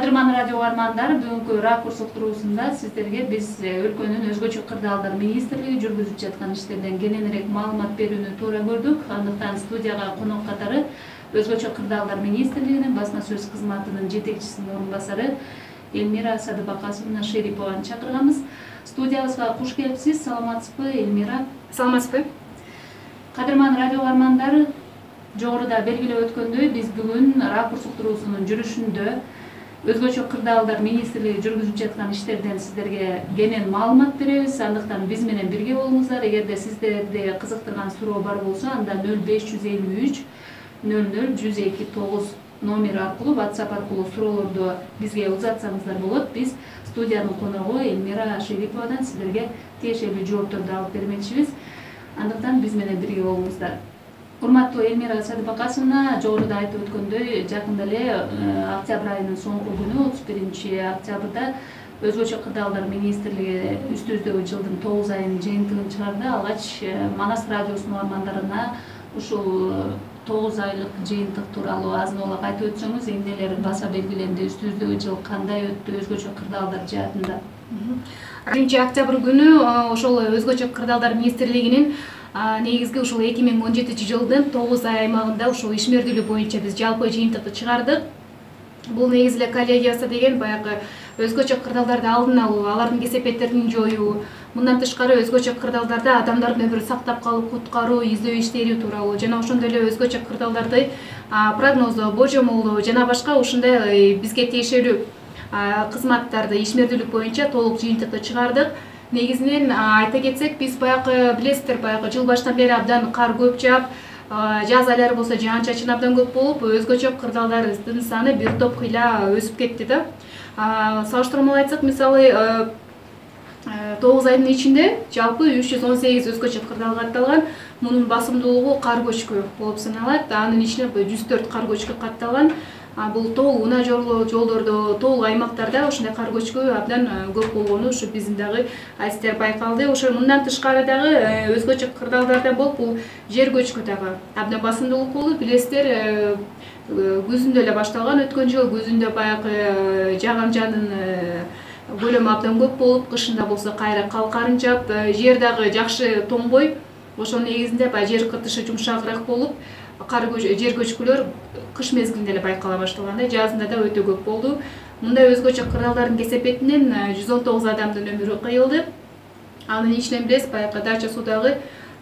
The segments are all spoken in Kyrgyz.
Кадырман радио угармандары, бүгүнкү ракурс уктуруусунда сиздерге биз өлкөнүн өзгөчө кырдаалдар министрлиги жүргүзүп жаткан иштерден кененирээк маалымат берүүнү туура көрдүк. Андыктан студияга конок катары өзгөчө кырдаалдар министрлигинин басма сөз кызматынын жетекчисинин орун басары Эльмира Садыбакасовна Шерипованы чакырганбыз. Студиябызга куш келипсиз. Саламатсызбы, Эльмира? Саламатсызбы. Кадырман радио угармандары, жогоруда белгилеп өткөндөй, биз бүгүн ракурс уктуруусунун жүрүшүндө өзгөчө кырдаалдар министрлиги жүргүзүп жаткан иштерден сиздерге кенен маалымат беребиз. Андыктан биз менен бирге болуңуздар. Эгерде сиздерди кызыктырган суроо бар болсо, анда 0553 00 1029 номер аркылуу, WhatsApp аркылуу суроолорду бизге узатсаңыздар болот. Биз студиянын коногу Эльмира Шериповадан сиздерге тиешелүү жоопторду алып бермекчибиз. Андыктан биз менен бирге болуңуздар. Урматтуу Эльмира Садыбакасовна, жогоруда айтып өткөндөй, жакында эле октябрь айынын соңку күнү 31 октябрда өзгөчө кырдаалдар министрлиги үстүбүздөгү жылдын 9 айынын жыйынтыгын чыгарды. Алгач Манас радиосунун угармандарына ушул 9 айлык жыйынтык тууралуу азын-аулак айтып өтсөңүз, эмнелер баса белгиленди, үстүбүздөгү жыл кандай өттү өзгөчө кырдаалдар жаатында? 1 октябрь күнү ошол өзгөчө кырдаалдар министрлигинин негизги ушул 2017 жылдын 9 ай аймагында ушул ишмердүүлүк боюнча биз жалпы жыйынтыкты чыгардык. Бул негизи эле коллегиясы деген баягы өзгөчө кырдаалдарды алдын алуу, алардын кесепеттерин жоюу, мындан тышкары өзгөчө кырдаалдарда адамдардын өмүрүн сактап калуу, куткаруу, издөө иштери тууралуу жана ошондой эле өзгөчө кырдаалдарды прогноздоо, божомолдоо жана башка ушундай бизге тиешелүү кызматтарды ишмердүүлүк боюнча толук жыйынтыкты чыгардык. Негизинен айта кетсек, биз баягы билесиздер, баягы жыл башынан бери абдан кар көп жаап, жаз айлары болсо жаан-чачын абдан көп болуп, өзгөчө кырдаалдардын саны бир топ кыйла өсүп кетти да. Салыштырмалуу айтсак, мисалы 9 айдын ичинде жалпы 318 өзгөчө кырдаал катталган. Мунун басымдуулугу кар көчкү болуп саналат. Анын ичинде 104 кар көчкү катталган. Бул тол унаа жолдордо, тол аймактарда ушундай кар көчкү абдан көп болгону ушу биздин дагы адистер байкалды. Ошо мындан тышкары дагы өзгөчө кырдаалдардан болуп, бул жер көчкү дагы абдан басымдуулук болду. Билесиздер, күзүндө эле башталган, өткөн жыл күзүндө баягы жаан-чачын көлөмү абдан көп болуп, кышында болсо кайра калкарын жаап, жер дагы жакшы тоңбой, ошонун негизинде баягы жер кыртышы жумшагыраак болуп, жер көчкүлөр кыш мезгилинде эле байкала башталган, жазында да өтө көп болду. Мындай өзгөчө кырдаалдардын кесепетинен 119 адамдын өмүрү кыйылды. Анын ичинен билесиз, баягы Дача суудагы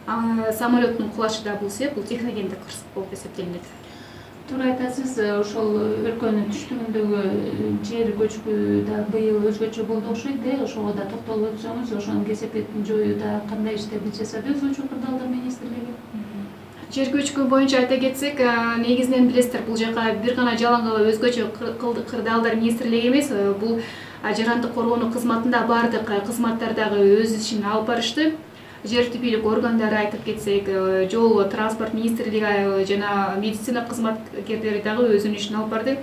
самолеттун кулашы да бул себеп, бул техногендик кырсык болуп эсептелинет. Туура айтасыз, ошол өлкөнүн түштүгүндөгү жер көчкү да быйыл өзгөчө болду окшойт да. Ошого да токтолуп өтсөңүз, ошонун кесепетин жоюуда кандай иштерди жасады өзгөчө кырдаалдар министрлиги? Жер көчкү боюнча айта кетсек, негизинен билесиздер, бул жака бир гана жалаң өзгөчө кырдаалдар министрлиги эмес, бул жарандык коргонуу кызматында бардык кызматтар дагы өз ишин алып барышты. Жер түбүлүк органдары айтып кетсек, жол транспорт министрлиги жана медицина кызматкерлери дагы өзүнүн ишин алып барды.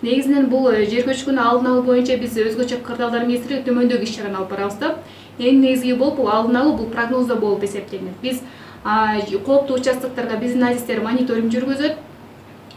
Негизинен бул жер көчкүнү алдын алуу боюнча биз өзгөчө кырдаалдар министрлиги төмөндөгү иш-чараны алып барабыз да. Эң негизги болуп, бул алдын алуу, бул прогноздоо болуп эсептелинет. Биз кооптуу участоктарга биздин адистер мониторинг жүргүзөт.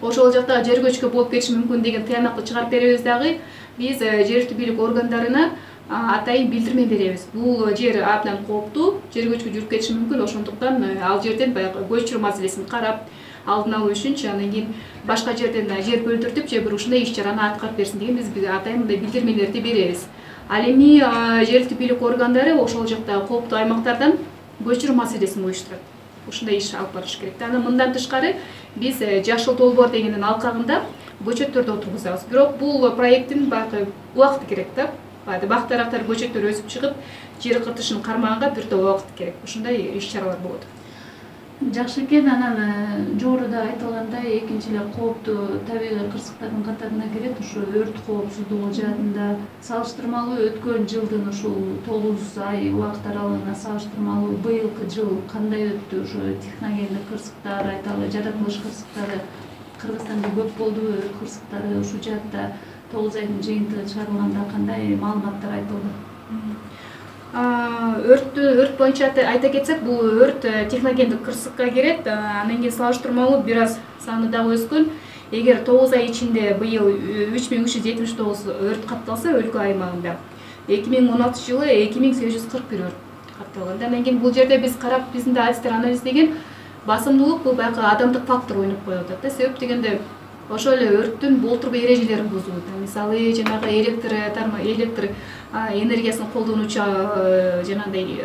Ошол жакта жер көчкү болуп кетиши мүмкүн деген тыянакты чыгарып беребиз дагы. Биз жер түбүлүк органдарына атайын билдирме беребиз. Бул жер абдан кооптуу, жер көчкү жүрүп кетиши мүмкүн, ошондуктан ал жерден баягы көчүрүү маселесин карап, алдын алуу үчүнчү, анан кийин башка жерден жер бөлдүртүп, же бир ушундай иш-чараны аткарып берсин деген биз атайын мындай билдирмелерди беребиз. Ал эми жер түбүлүк органдары ошол жакта кооптуу аймактардан көчүрүү маселесин уюштурат. Ушундай иш алып барыш керек. Анан мындан тышкары биз жашыл долбоор дегендин алкагында көчөттөрдү отургузабыз. Бирок бул проекттин баягы убакыты керек да. Бактарактар көчөттөр өсүп чыгып, жер кыртышын кармаганга бир топ убакыт керек. Ушундай иш-чаралар болот. Жакшы экен. Анан жогоруда айтылгандай, экинчи эле кооптуу табигый кырсыктардын катарына кирет ушу өрт коопсуздугу жаатында. Салыштырмалуу өткөн жылдын ушул 9 ай убакыт аралыгына салыштырмалуу быйылкы жыл кандай өттү? Ушу техногендик кырсыктар, айталы жаратылыш кырсыктары Кыргызстанда көп болду, өрт кырсыктары ушул жаатта 9 айдын жыйынтыгы чыгарылганда кандай маалыматтар айтылды? Өрт боюнча айта кетсек, бул өрт техногендик кырсыкка кирет. Анан кийин салыштырмалуу бир аз саны дагы өскөн. эгер 9 ай ичинде быйыл 3379 өрт катталса өлкө аймагында, 2016 жылы 2841 өрт катталган. Андан кийин бул жерде биз карап, биздин да адистер анализдеген басымдуулук бул баягы адамдык фактор ойноп коюп атат да. Себеп дегенде ошол эле өрттүн болтурбу эрежелерин бузуу. Мисалы, жанагы электр энергиясын колдонуучу жанагындай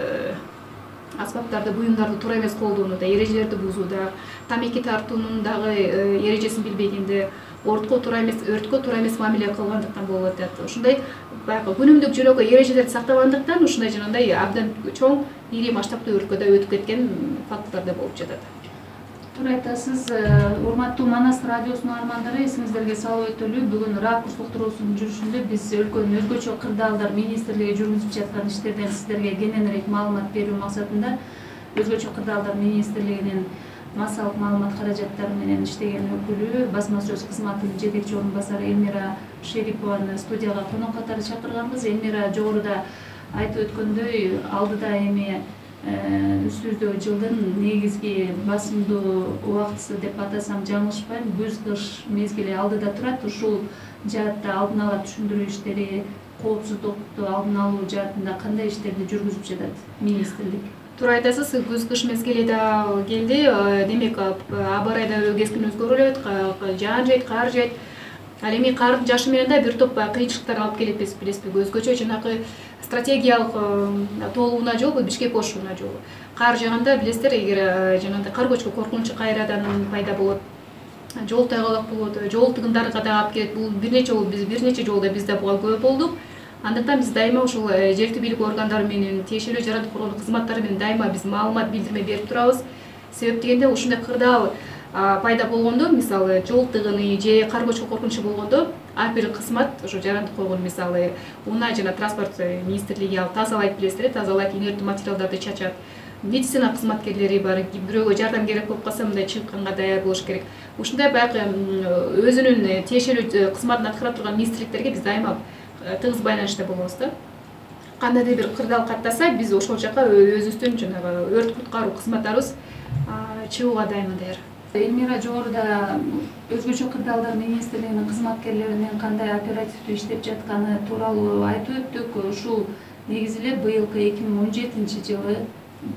аспаптарды, буюмдарды туура эмес колдонууда, эрежелерди бузууда, тамеки тартуунун дагы эрежесин билбегенде, өрткө туура эмес мамиле кылгандыктан болуп атат. Ушундай баягы күнүмдүк жөнөкөй эрежелерди сактабагандыктан ушундай жанагындай абдан чоң, ири масштабтуу өрткө да өтүп кеткен факттар да болуп жатат. Туура айтасыз, урматтуу Манас радиосунун армандары, эсиңиздерге салып өтөлү, бүгүн ракурс уктуруусунун жүрүшүндө биз өлкөнүн өзгөчө кырдаалдар министрлиги жүргүзүп жаткан иштерден сиздерге кененирээк маалымат берүү максатында өзгөчө кырдаалдар министрлигинин массалык маалымат каражаттары менен иштеген өкүлү, басма сөз кызматынын жетекчи орун басары Элмира Шерипованы студияга конок катары чакырганбыз. Элмира жогоруда айтып өткөндөй, алдыда эми үстүбүздөгү жылдын негизги басымдуу убактысы деп атасам жаңылышпайм, күз-кыш мезгили алдыда турат. Ушул жаатта алдын ала түшүндүрүү иштери, коопсуздукту алдын алуу жаатында кандай иштерди жүргүзүп жатат министрлик? Туура айтасыз, күз-кыш мезгили да келди. Демек, аба ырай да кескин өзгөрүлөт, жаан жайт, кар жайт. Ал эми кардын жаашы менен да бир топ кыйынчылыктар алып келет, билесизби? Өзгөчө жанагы стратегиялык тоолууна жолу, Бишкек ошуна жолу. Кар жааганда билесиздер, эгер жанагындай кар көчкү коркунучу кайрадан пайда болот, жол тайгалак болот, жол тыгындарга да алып келет. Бул бир нече жолу бизде буга көп болдук. Андыктан биз дайыма ушул жергиликтүү бийлик органдары менен, тиешелүү жарандык коргоонуу кызматтары менен дайыма биз маалымат билдирме берип турабыз. Себеп дегенде ушундай кырдаал пайда болгондо, мисалы жол тыгыны же кар көчкү коркунучу болгондо, ар бир кызмат ошо жарандык койгон, мисалы унаа жана транспорт министрлиги ал тазалайт, билесиздер, тазалайт, инерттүү материалдарды чачат. Медицина кызматкерлери бар, бирөөгө жардам керек болуп калса, мындай чыкканга даяр болуш керек. Ушундай баягы өзүнүн тиешелүү кызматын аткара турган министрликтерге биз дайыма тыгыз байланышта болобуз да. Кандайдыр бир кырдаал каттаса, биз ошол жака өзүбүздүн жанагы өрт куткаруу кызматтарыбыз чыгууга дайыма даяр. Элмира жогоруда өзгөчө кырдаалдар министрлигинин кызматкерлеринин кандай оперативдүү иштеп жатканы тууралуу айтып өттүк. Ушул негизи эле быйылкы 2017 жылы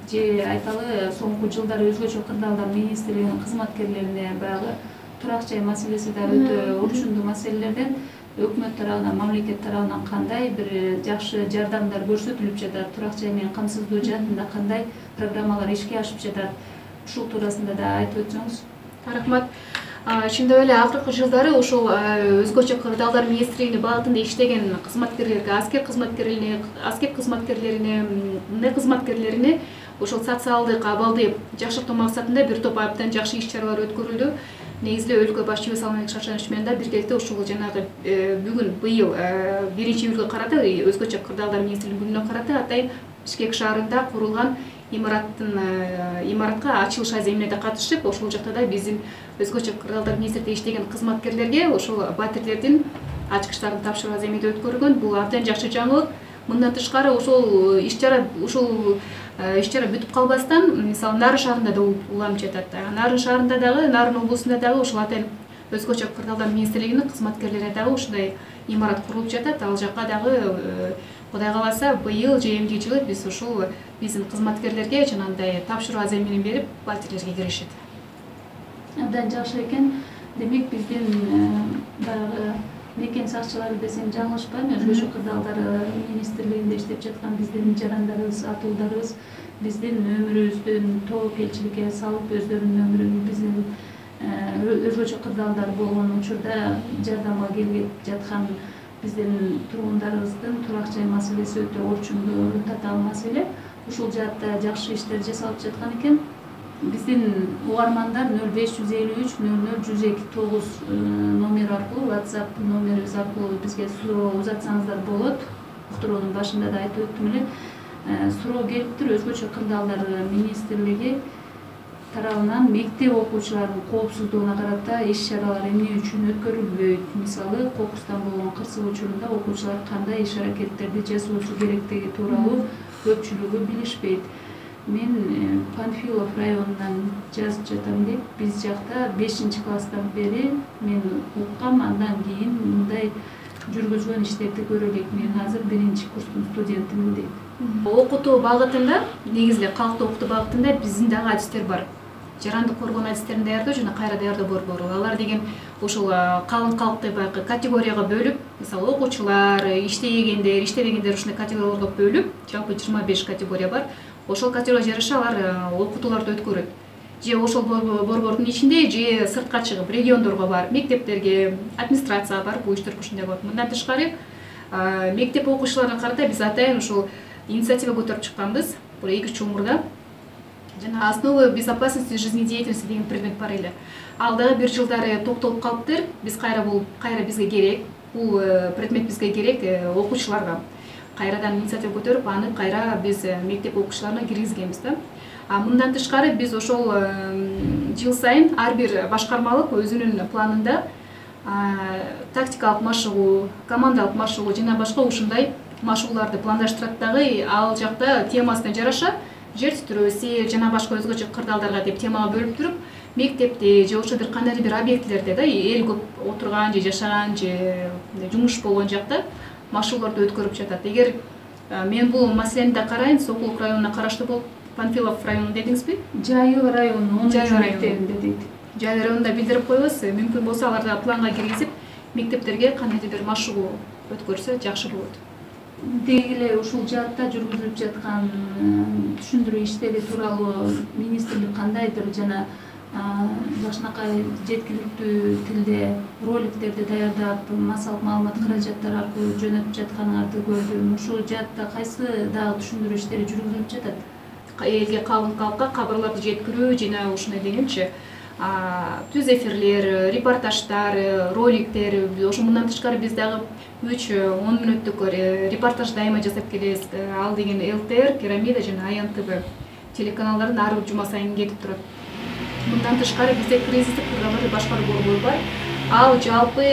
же айталы соңку жылдары өзгөчө кырдаалдар министрлигинин кызматкерлерине баягы турак жай маселеси да өтө орчундуу маселелерден өкмөт тарабынан, мамлекет тарабынан кандай бир жакшы жардамдар көрсөтүлүп жатат, турак жай менен камсыздоо жаатында кандай программалар ишке ашып жатат, ушул туурасында да айтып өтсөңүз. Рахмат. Чындап эле акыркы жылдары ушул өзгөчө кырдаалдар министрлигинин багытында иштеген кызматкерлерге, аскер кызматкерлерине, мындай кызматкерлерине ушул социалдык абалды жакшыртуу максатында бир топ абдан жакшы иш-чаралар өткөрүлдү. Негизи эле өлкө башчыбыз Алмазбек Шаршенович менен да биргеликте ушул жанагы бүгүн быйыл 1-июлга карата, өзгөчө кырдаалдар министрлигинин күнүнө карата атайын Бишкек шаарында курулган имаратка ачылыш аземине да катышып, ошол жакта да биздин өзгөчө кырдаалдар министрлигинде иштеген кызматкерлерге ошол батирлердин ачкычтарын тапшыруу аземиде өткөрүлгөн. Бул абдан жакшы жаңылык. Мындан тышкары ушул иш-чара бүтүп калбастан, мисалы Нарын шаарында да уланып жатат. Нарын шаарында дагы, Нарын облусунда дагы ушул атайын өзгөчө кырдаалдар министрлигинин кызматкерлери дагы ушундай имарат курулуп жатат. Ал жакка дагы Кудай кааласа быйыл же эмки жылы биз ушул биздин кызматкерлерге жанагындай тапшыруу аземинин берип, батирлерге киришет. Абдан жакшы экен. Демек биздин баягы мекен сакчылары десем жаңылышпайм, өзгөчө кырдаалдар министрлигинде иштеп жаткан биздин жарандарыбыз, атуулдарыбыз биздин өмүрүбүздүн тобокелчиликке салып, өздөрүнүн өмүрүн биздин өзгөчө кырдаалдар болгон учурда жардамга келип жаткан биздин тургундарыбыздын турак жай маселеси өтө орчундуу татаал маселе. Ушул жаатта жакшы иштер жасалып жаткан экен. Биздин угармандар 0553 00 102 номер аркылуу, WhatsApp номерибиз аркылуу бизге суроо узатсаңыздар болот. Уктуруунун башында да айтып өттүм эле. Суроо келиптир, өзгөчө кырдаалдар министрлиги тарабынан мектеп окуучуларынын коопсуздугуна карата иш-чаралар эмне үчүн өткөрүлбөйт? Мисалы, кокустан болгон кырсык учурунда окуучулар кандай иш-аракеттерди жасоосу керектиги тууралуу көпчүлүгү билишпейт. Мен Панфилов районунан жазып жатам деп, биз жакта 5-класстан бери мен уккам, андан кийин мындай жүргүзгөн иштерди көрө элек. Мен азыр 1-курстун студентимин дейт. Окутуу багытында, негизи эле калктуу окутуу багытында биздин дагы адистер бар. Жарандык коргоо адистерин даярдоо жана кайра даярдоо борбору. Алар деген ошол калың калкты баягы категорияга бөлүп, мисалы окуучулар, иштегендер, иштебегендер ушундай категорияларга бөлүп, жалпы 25 категория бар. Ошол категорияга жараша алар окутууларды өткөрөт. Же ошол борбордун ичинде, же сыртка чыгып региондорго барып, мектептерге, администрацияга барып бул иштерди ушундай болот. Мындан тышкары, мектеп окуучуларына карата биз атайын ушул инициатива көтөрүп чыкканбыз. Бул 2 мурда. Жана основы безопасности жизнедеятельности деген предмет бар эле. Ал дагы бир жылдары токтолуп калыптыр. Биз кайра бизге керек. Бул предмет бизге керек окуучуларга. Кайрадан инициатива көтөрүп, аны кайра биз мектеп окуучуларына киргизгенбиз да. Мындан тышкары биз ошол жыл сайын ар бир башкармалык өзүнүн планында тактикалык машыгуу, командалык машыгуу жана башка ушундай машыгууларды пландаштырат дагы. Ал жакта темасына жараша жер титирөө, сел жана башка өзгөчө кырдаалдарга деп темага бөлүп туруп, мектепте же ошо бир кандайдыр бир объектилерде да эл көп отурган же жашаган же жумуш болгон жакта машыгууларды өткөрүп жатат. Эгер мен бул маселени да карайын, Сокулук районуна караштуу болуп, Панфилов району дедиңизби? Жайыл району, Жайыл мектебинде дейт. Жайыл районунда билдирип коебуз. Мүмкүн болсо аларда планга киргизип, мектептерге кандайдыр бир машыгуу өткөрсө жакшы болот. Деги эле ушул жаатта жүргүзүлүп жаткан түшүндүрүү иштери тууралуу министрлик кандайдыр жана башынакай жеткиликтүү тилде роликтерди даярдап, массалык маалымат каражаттары аркылуу жөнөтүп жатканыңарды көрдүм. Ушул жаатта кайсы дагы түшүндүрүү иштери жүргүзүлүп жатат? Элге калың калкка кабарларды жеткирүү жана ушундай дегенчи түз эфирлер, репортаждар, роликтер. Ошо мындан тышкары биз дагы 3-10 мүнөттүк репортаж дайыма жасап келебиз. Ал деген ЛТР, Пирамида жана Аян ТВ телеканалдарын ар бир жума сайын кетип турат. Мындан тышкары бизде кризистик программаларды башкаруу борбору бар. Ал жалпы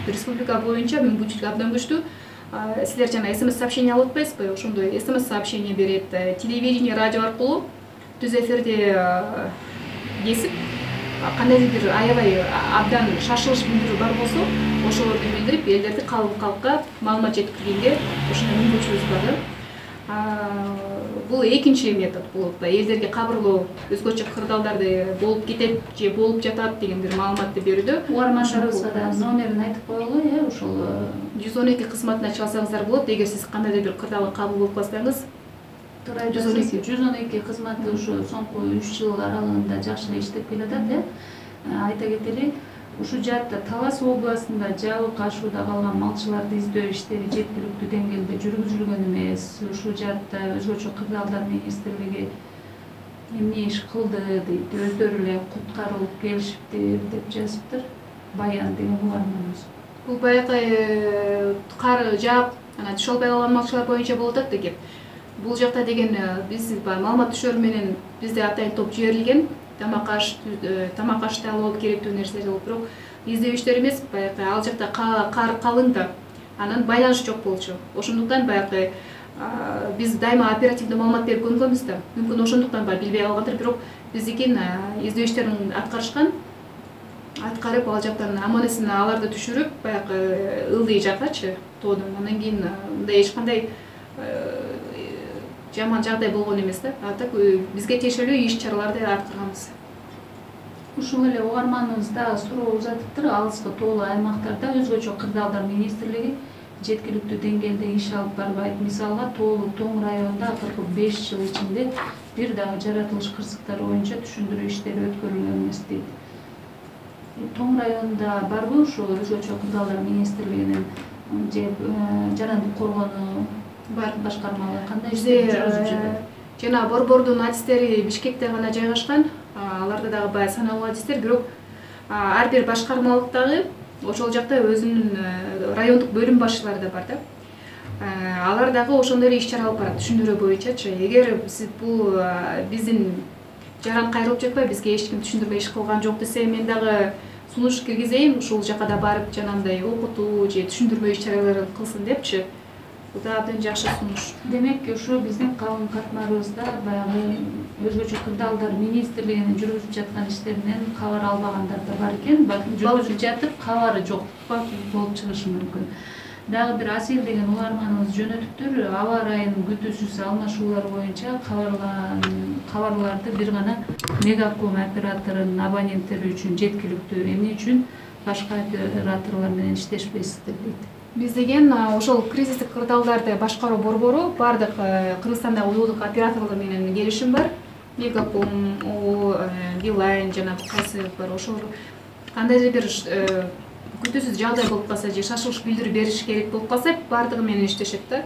республика боюнча мүмкүнчүлүгү абдан күчтүү. Силер жана СМС сообщение алып атпайсызбы? Ошондой СМС сообщение берет. Телевидение, радио аркылуу түз эфирде кесип, кандайдыр бир аябай абдан шашылыш билдирүү бар болсо, ошолорду билдирип, элдерди калың калкка маалымат жеткиргенге ошондой мүмкүнчүлүгүбүз бар да. Бул экинчи метод болот. Элдерге кабарлоо, өзгөчө кырдаалдарды болуп кетет же болуп жатат деген бир маалыматты берүүдө. Угармандарыбызга да номерин айтып коелу, ошол 112 кызматына чалсаңыздар болот. Эгер сиз кандайдыр бир кырдаалга кабыл болуп калсаңыз, 112 кызматы ушу соңку 3 жыл аралыгында жакшы эле иштеп келатат. Айта кетели, ушу жаатта Талас областында жабык ашууда калган малчыларды издөө иштери жеткиликтүү деңгээлде жүргүзүлгөн эмес. Ушу жаатта өзгөчө кырдаалдар министрлиги эмне иш кылды дейт, өздөрү эле куткарылып келишиптир деп жазыптыр. Баян деген угарманыбыз. Бул баягы кар жаап, анан түшө албай калган малчылар боюнча болуп атат да кеп. Бул жакта деген биз маалымат түшөр менен бизде атайын топ жиберилген. Тамак ашты алып керектүү нерселер болуп, бирок издөө иштери эмес, баягы ал жакта кар калың да, анан байланыш жок болчу. Ошондуктан баягы биз дайыма оперативдүү маалымат берип көнгөнбүз да. Мүмкүн ошондуктан билбей калгандыр, бирок биздикин издөө иштерин аткарып ал жактан аман-эсен аларды түшүрүп, баягы ылдый жаккачы тоодон. Андан кийин мындай эч кандай жаман жагдай болгон эмес да. Так бизге тиешелүү иш-чараларды аткарганбыз. Ушул эле угарманыбыз дагы суроо узатыптыр. Алыскы тоолуу аймактарда өзгөчө кырдаалдар министрлиги жеткиликтүү деңгээлде иш алып барбайт. Мисалга, Тоолу Тоң районунда 45 жыл ичинде бир дагы жаратылыш кырсыктары боюнча түшүндүрүү иштери өткөрүлгөн эмес дейт. Тоң районунда барбы ушул өзгөчө кырдаалдар министрлигинин же жарандык коргоону бар башкармалар кандай иштер жүргүзүп жатат? Жана борбордун адистери Бишкекте гана жайгашкан. Аларда дагы бай саналуу адистер, бирок ар бир башкармалыктагы ошол жакта өзүнүн райондук бөлүм башчылары да бар да. Алар дагы ошондой эле иш-чара алып барат түшүндүрүү боюнчачы. Эгер сиз бул биздин жаран кайрылып жатпай, бизге эч ким түшүндүрмө иш кылган жок десе, мен дагы сунуш киргизейин, ушул жака да барып жанагындай окутуу же түшүндүрмө иш-чараларын кылсын депчи. бул да абдан жакшы сунуш. Демек ошо биздин калым катмарыбызда баягы өзгөчө кырдаалдар министрлигинин жүргүзүп жаткан иштеринен кабар албагандар да бар экен. Балким жүргүзүп жатып кабары жок болуп чыгышы мүмкүн. Дагы бир Асел деген угарманыбыз жөнөтүптүр. Аба ырайынын күтүүсүз алмашуулар боюнча кабарларды бир гана Мегаком операторунун абоненттери үчүн жеткиликтүү. Эмне үчүн башка операторлор менен иштешпейсиздер дейт. Биз деген ошол кризистик кырдаалдарды башкаруу борбору бардык Кыргызстандагы уюлдук операторлор менен келишим бар. Мегаком, Билайн жана кайсы бар ошол кандайдыр бир күтүүсүз жагдай болуп калса же шашылыш билдирүү бериш керек болуп калса бардыгы менен иштешет да.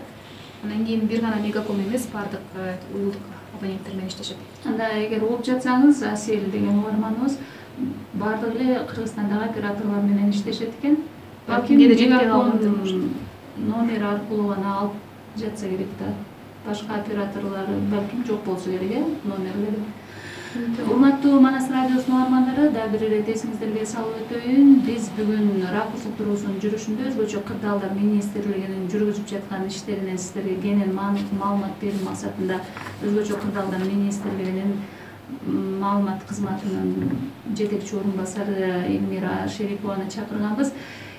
Анан кийин бир гана Мегаком эмес бардык уюлдук абоненттер менен иштешет. Анда эгер угуп жатсаңыз, Асел деген угарманыбыз бардык эле Кыргызстандагы операторлор менен иштешет экен. Балким Мегакомдун номери аркылуу гана алып жатса керек да. Башка операторлор балким жок болсо керек, номерлери. Урматтуу Манас радиосунун угармандары, дагы бир ирет эсиңиздерге салып өтөйүн. Биз бүгүн ракурс уктуруусунун жүрүшүндө өзгөчө кырдаалдар министрлигинин жүргүзүп жаткан иштеринен сиздерге кенен маалымат берүү максатында өзгөчө кырдаалдар министрлигинин маалымат кызматынын жетекчи орун басары Элмира Шерипованы чакырганбыз.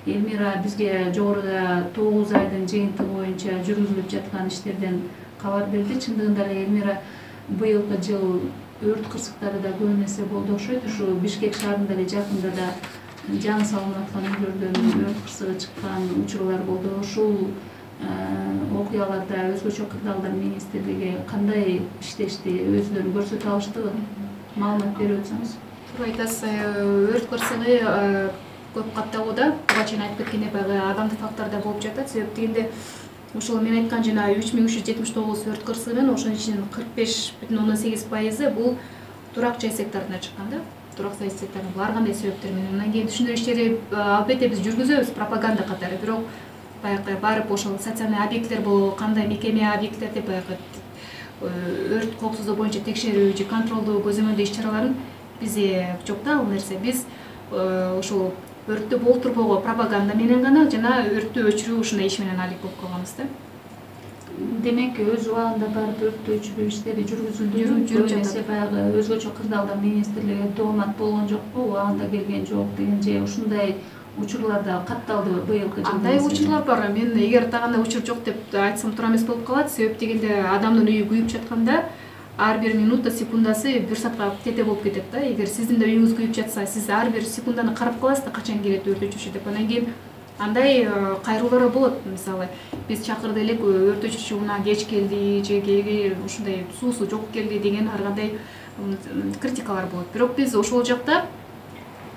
Элмира бизге жогоруда 9 айдын жыйынтыгы боюнча жүргүзүлүп жаткан иштерден кабар берди. Чындыгында эле Элмира быйылкы жыл өрт кырсыктары да көп нерсе болду окшойт. Ушу Бишкек шаарында эле жакында да жаңы салынып аткан үйлөрдөн өрт кырсыгы чыккан учурлар болду. Ушул окуяларда өзгөчө кырдаалдар министрлиги кандай иштешти, өзүлөрүн көрсөтө алыштыбы? Маалымат берип өтсөңүз. Туура айтасыз, өрт кырсыгы көп катталууда. Буга чейин айтып кеткендей баягы адамдык фактордор болуп жатат. Себеп дегенде ошол мен айткан жана 3379 өрт кырсыгынын ошонун ичинен 45,8% бул турак жай секторуна чыккан да. Турак жай секторунун ар кандай себептер менен. Андан кийин түшүндүрүү иштери албетте биз жүргүзөбүз пропаганда катары. Бирок баягы барып ошол социальный объекттер болобу, кандай мекеме объекттер деп баягы өрт коопсуздугу боюнча текшерүү же контролдуу көзөмөлдөө иш-чараларын бизде жок да ал нерсе. Биз ошол өрттү болтурбоого пропаганда менен гана жана өрттү өчүрүү ушундай иш менен алек болуп калганбыз да. Демек өз убагында барып өрттү өчүрүү иштери жүргүзүлдү. Жүрүп жатат. Баягы өзгөчө кырдаалдар министрлиги тоомат болгон жокпу, убагында келген жок деген же ушундай учурларда катталдыбы быйылкы жылда? Андай учурлар бар. Мен эгер тагында учур жок деп айтсам туура эмес болуп калат. Себеп дегенде адамдын үйү күйүп жатканда ар бир минута, секундасы бир саатка тете болуп кетет да. Эгер сиздин да үйүңүз күйүп жатса, сиз ар бир секунданы карап каласыз да, качан келет өрт өчүрүүчү деп. Андан кийин андай кайрылуулар болот. Мисалы, биз чакырды элек, өрт өчүрүүчү унаа кеч келди, же кээ ушундай суусу жок келди деген ар кандай критикалар болот. Бирок биз ошол жакта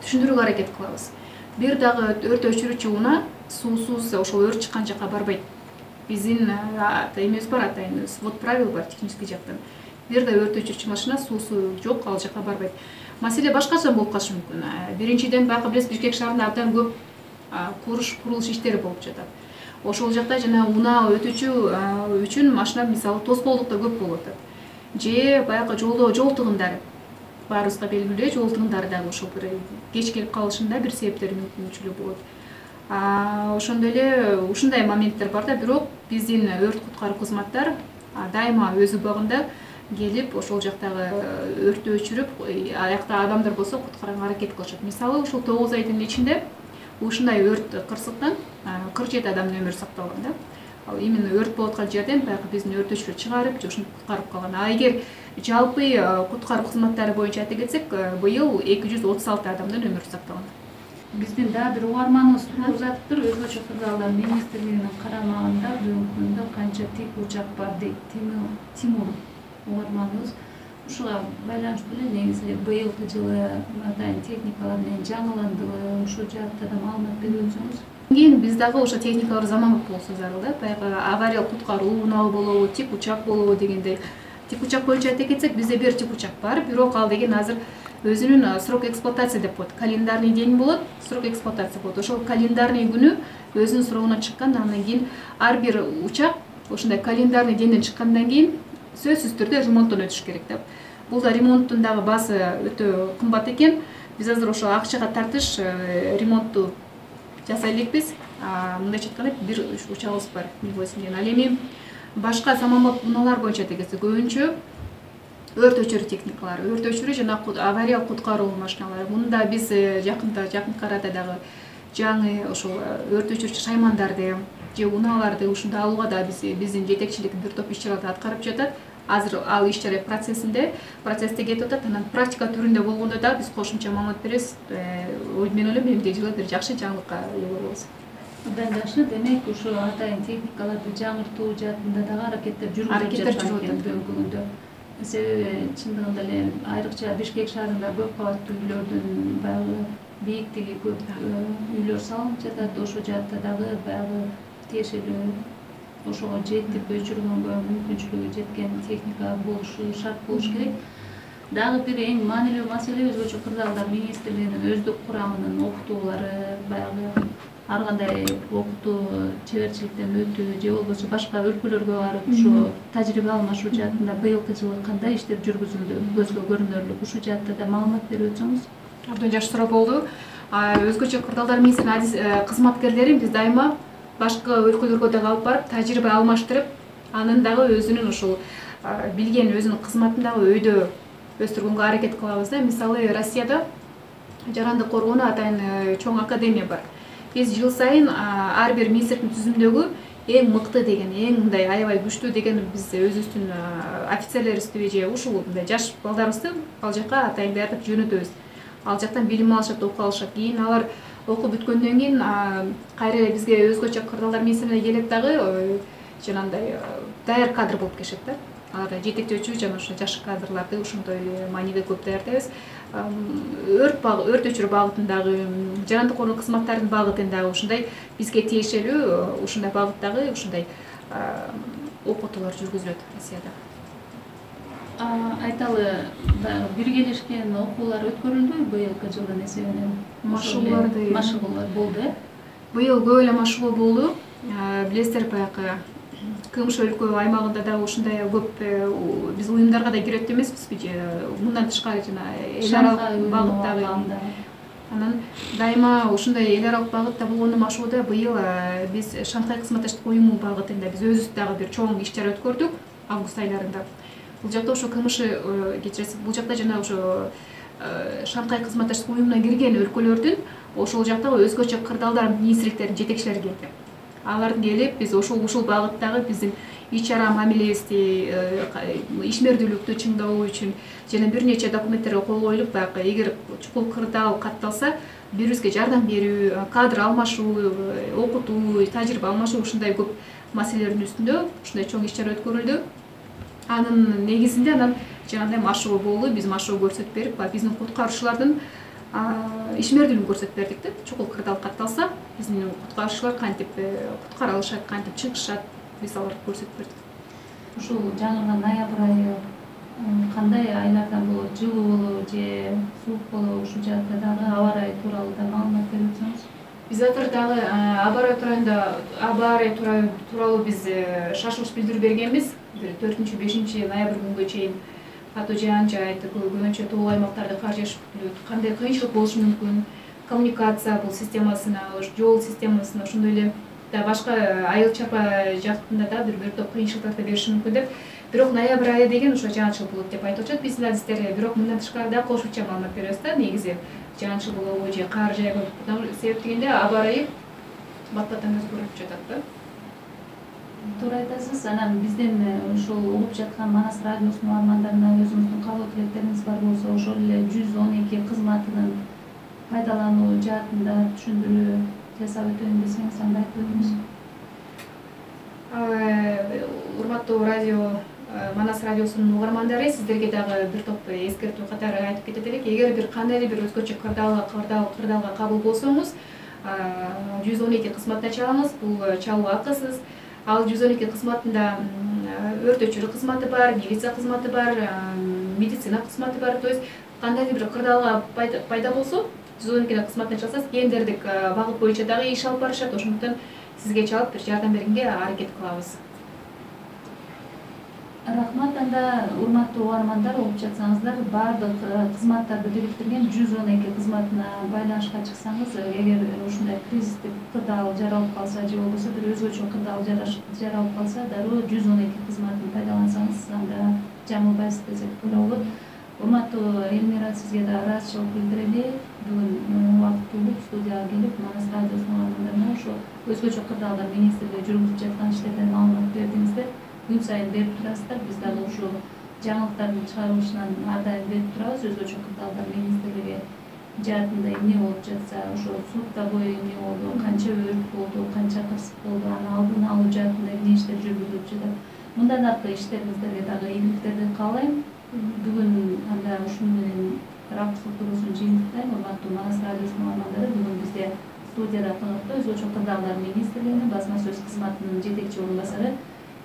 түшүндүрүүгө аракет кылабыз. Бир дагы өрт өчүрүүчү унаа суусуз ошол өрт чыккан жакка барбайт. Биздин эмебиз бар, атайын свод правил бар технический жактан. Бир да өрт өчүрүүчү машина суусу жок ал жакка барбайт. Маселе башкача болуп калышы мүмкүн. Биринчиден баягы биз Бишкек шаарында абдан көп курулуш иштери болуп жатат. Ошол жакта жана унаа өтүүчү үчүн машина мисалы тоскоолдук да көп болуп атат. Же баягы жолдо жол тыгындары баарыбызга белгилүү, жол тыгындары дагы ошол бир кеч келип калышында бир себептери мүмкүнчүлүгү болот. Ошондой эле ушундай моменттер бар да, бирок биздин өрт куткаруу кызматтар дайыма өз убагында келип ошол жактагы өрттү өчүрүп, аякта адамдар болсо куткарганга аракет кылышат. Мисалы, ошол 9 айдын ичинде ушундай өрт кырсыктан 47 адамдын өмүрү сакталган да. Ал именно өрт болуп аткан жерден баягы биздин өрт өчүрүү чыгарып, же ушуну куткарып калган. Эгер жалпы куткаруу кызматтары боюнча айта кетсек, быйыл 236 адамдын өмүрү сакталган. Биздин дагы бир угарманыбыз туруп узатыптыр. Өзгөчө кырдаалдар министрлигинин карамагында бүгүнкү күндө канча тик учак бар дейт Тимур угарманыбыз. Ушуга байланыштуу эле негизи быйылкы жылы атайын техникалар менен жаңыландыбы, ушул жаатта да маалымат берип өтсөңүз. Кийин биз дагы ошо техникалар заманбап болсо зарыл да. Баягы авариялык куткаруу унаал болобу, тик учак болобу дегендей. Тик учак боюнча айта кетсек, бизде бир тик учак бар, бирок ал деген азыр өзүнүн срок эксплуатация деп коет. Календарный день болот, срок эксплуатация болот. Ошол календарный күнү өзүнүн срогуна чыккан, андан кийин ар бир учак ошондой календарный денден чыккандан кийин сөзсүз түрдө ремонттон өтүш керек да. Бул да ремонттун дагы баасы өтө кымбат экен. Биз азыр ошо акчага тартыш ремонтту жасай элекпиз. мындайча айтканда бир учагыбыз бар Миглосинден. Ал эми башка заманбап унаалар боюнча дегенде көбүнчө өрт өчүрүү техникалары, өрт өчүрүү жана авариялык куткаруу машиналары. Мында биз жакынкы арада дагы жаңы ошол өрт өчүрүүчү шаймандарды же унааларды ушундай алууга да биздин жетекчилик бир топ иш-чараларды аткарып жатат. Азыр ал иш-чара процессте кетип атат. Анан практика түрүндө болгондо да биз кошумча маалымат беребиз. Мен ойлойм эмгиче жылы бир жакшы жаңылыкка ээ болобуз. Абдан жакшы. Демек ушу атайын техникаларды жаңыртуу жаатында дагы аракеттер жүрүлүп жатат бүгүнкү күндө. Себеби чындыгында эле айрыкча Бишкек шаарында көп кабаттуу үйлөрдүн баягы бийиктиги көп үйлөр салынып жатат. Ошол жаатта дагы баягы тиешелүү ошого жетип өчүргөнгө мүмкүнчүлүгү жеткен техника болушу шарт болуш керек. Дагы бир эң маанилүү маселе өзгөчө кырдаалдар министрлигинин өздүк курамынын окутуулары, баягы ар кандай окутуу чеберчиликтен өтүү же болбосо башка өлкөлөргө барып ушу тажрыйба алмашуу жаатында быйылкы жылы кандай иштер жүргүзүлдү көзгө көрүнөрлүк, ушул жаатта да маалымат берип өтсөңүз. Абдан жакшы суроо болду. Өзгөчө кырдаалдар министрлигинин кызматкерлери биз дайыма башка өлкөлөргө дагы алып барып тажрыйба алмаштырып, анын дагы өзүнүн ушул билген өзүнүн кызматын дагы өйдө өстүргөнгө аракет кылабыз да. Мисалы Россияда жарандык коргоону атайын чоң академия бар. Биз жыл сайын ар бир министрликтин түзүмдөгү эң мыкты деген, эң мындай аябай күчтүү деген биз өзүбүздүн офицерлерибизди же ушул мындай жаш балдарыбызды ал жака атайын даярдап жөнөтөбүз. Ал жактан билим алышат, окуп алышат. Кийин алар окуп бүткөндөн кийин кайра эле бизге өзгөчө кырдаалдар министрлигине келип дагы жанагындай даяр кадр болуп келишет да. Алар жетектөөчү жана ошо жаш кадрларды ушундай маанилүү көп даярдайбыз. Өрт өчүрүү багытындагы, жарандык коргоо кызматтарынын багытындагы ушундай бизге тиешелүү ушундай багыттагы ушундай окутуулар жүргүзүлөт Россияда. Айталы, биргелешкен окуулар өткөрүлдү быйылкы жылдын эсебинен? Машыгуулар болду, э? Быйыл көп эле машыгуу болду. Билесиздер, баягы КМШ өлкө аймагында дагы ушундай көп биз уюмдарга да кирет эмеспизби же мындан тышкары жана эл аралык багыттагы. Анан дайыма ушундай эл аралык багытта болгондо машыгууда быйыл биз Шанхай кызматташтык уюму багытында биз өзүбүз дагы бир чоң иш-чара өткөрдүк август айларында. Бул жакта ошо КМШ кечиресиз, бул жакта жана ошо Шанхай кызматташтык уюмуна кирген өлкөлөрдүн ошол жактагы өзгөчө кырдаалдар министрликтеринин жетекчилери келди. Алардын келип биз ушул багыттагы биздин иш-чара мамилебизди, ишмердүүлүктү чыңдоо үчүн жана бир нече документтерге кол коюлуп, баягы эгер чукул кырдаал катталса, бири-бирибизге жардам берүү, кадр алмашуу, окутуу, тажрыйба алмашуу ушундай көп маселелердин үстүндө ушундай чоң иш-чара өткөрүлдү. Анын негизинде жанагындай машыгуу болду. Биз машыгуу көрсөтүп берип, биздин куткаруучулардын ишмердүүлүгүн көрсөтүп бердик да. Чукул кырдаал катталса, биздин куткаруучулар кантип куткара алышат, кантип чыгышат, биз аларды көрсөтүп бердик. Ушул жаңырган ноябрь айы кандай айлардан болот? Жылуу болобу же суук болобу? Ушул жаатта дагы аба ырайы тууралуу да маалымат берип өтсөңүз. Биз азыр дагы аба ырайы тууралуу биз шашылыш билдирүү бергенбиз. 4-5 ноябрь күнгө чейин катуу жаан жаайт, көбүнчө тоо аймактарда кар жашып күтүлөт. Кандай кыйынчылык болушу мүмкүн? Коммуникация бул системасына, жол системасына, ошондой эле да башка айыл чарба жактында да бир топ кыйынчылыктарды бериши мүмкүн деп. Бирок ноябрь айы деген ошо жаанчыл болот деп айтып атышат биздин адистер. Бирок мындан тышкары да кошумча маалымат беребиз да, негизи жаанчыл болобу же кар жайгы. Себеп дегенде аба ырайы бат-баттан өзгөрүп жатат да. Туура айтасыз. Анан биздин ушул угуп жаткан Манас радиосунун угармандарына өзүңүздүн каалоо тилектериңиз бар болсо, ошол эле 112 кызматынын пайдалануу жаатында түшүндүрүү жасап өтөйүн десеңиз, анда айтып өтүңүз. Урматтуу радио Манас радиосунун угармандары, сиздерге дагы бир топ эскертүү катары айтып кетет элек. Эгер бир кандай эле бир өзгөчө кырдаалга кабыл болсоңуз, 112 кызматына чалыңыз. Бул чалуу акысыз. Ал 112 кызматында өрт өчүрүү кызматы бар, милиция кызматы бар, медицина кызматы бар. То есть кандай бир кырдаалга пайда болсо, 112 кызматына чалсаңыз, гендердик багыт боюнча дагы иш алып барышат. Ошондуктан сизге чалып бир жардам бергенге аракет кылабыз. Рахмат. Анда урматтуу угармандар, угуп жатсаңыздар, баардык кызматтарды бириктирген 112 кызматына байланышка чыксаңыз, эгер ушундай кризистик кырдаал жаралып калса же болбосо бир өзгөчө кырдаал жаралып калса, дароо 112 кызматын пайдалансаңыз, анда жаңылбайсыз десек туура болот. Урматтуу Элмира, сизге да ыраазычылык билдирели. Бүгүн убакыт болуп студияга келип, Манас радиосунун угармандарына ошо өзгөчө кырдаалдар министрлиги жүргүзүп жаткан иштерден маалымат бердиңиздер. Күн сайын берип турасыздар. Биз дагы ушул жаңылыктардын чыгарылышынан ар дайым берип турабыз. Өзгөчө кырдаалдар министрлиги жаатында эмне болуп жатса, ошо сутка бою эмне болду, канча өрт болду, канча кырсык болду, аны алдын алуу жаатында эмне иштер жүргүзүлүп жатат. Мындан аркы иштериңиздерге дагы ийгиликтерди каалайм. Бүгүн анда ушуну менен ракурстук туруусун жыйынтыктайм. Урматтуу Манас радиосунун угармандары, бүгүн бизде студияда конокто өзгөчө кырдаалдар министрлигинин басма сөз кызматынын жетекчи орун басары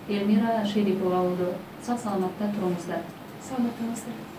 Элмира Шерипова болду. Сак саламатта туруңуздар. Саламатта болуңуздар.